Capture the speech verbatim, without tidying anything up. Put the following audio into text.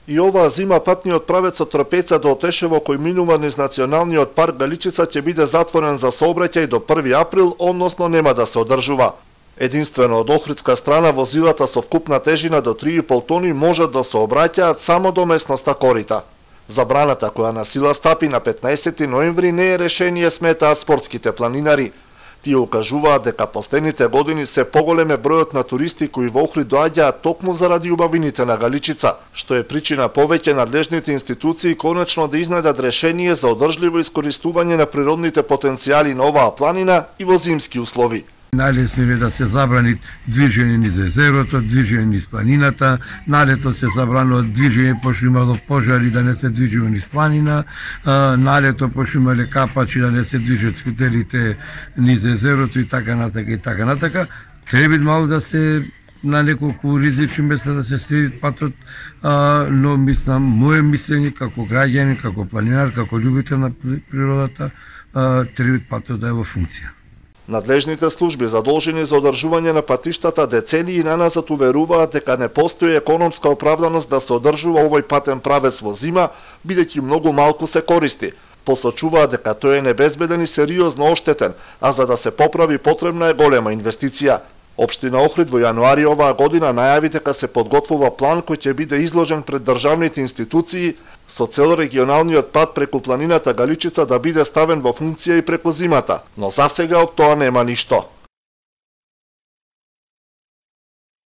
И оваа зима патниот правец од Трпеца до Отешево кој минува низ Националниот парк Галичица ќе биде затворен за сообраќај до први април, односно нема да се одржува. Единствено од охридска страна возилата со вкупна тежина до три и пол тони можат да се обраќаат само до местноста Корита. Забраната која на сила стапи на петнаесети ноември не е решение, сметаат спортските планинари. Тие укажуваат дека последните години се поголем е бројот на туристи кои во Охрид доаѓаат токму заради убавините на Галичица, што е причина повеќе надлежните институции конечно да изнајдат решение за одржливо искористување на природните потенцијали на оваа планина и во зимски услови. Најлесно е да се забрани движење низ езерото, движење низ планината, налето се забранува движење пошто имало пожари да не се движиме низ планина, налето пошто имале капачи да не се движат скутерите низ езерото и така натака и така натака. Треба малку да се на неколку ризични места да се следи патот, а, но мислам, моје мислење како граѓанин, како планинар, како љубител на природата, а, треба патот да е во функција. Надлежните служби задолжени за одржување на патиштата децении наназад уверуваат дека не постои економска оправданост да се одржува овој патен правец во зима, бидејќи многу малку се користи. Посочуваат дека тој е небезбеден и сериозно оштетен, а за да се поправи потребна е голема инвестиција. Општина Охрид во јануари оваа година најави дека се подготвува план кој ќе биде изложен пред државните институции со цел регионалниот пат преку планината Галичица да биде ставен во функција и преку зимата, но засега од тоа нема ништо.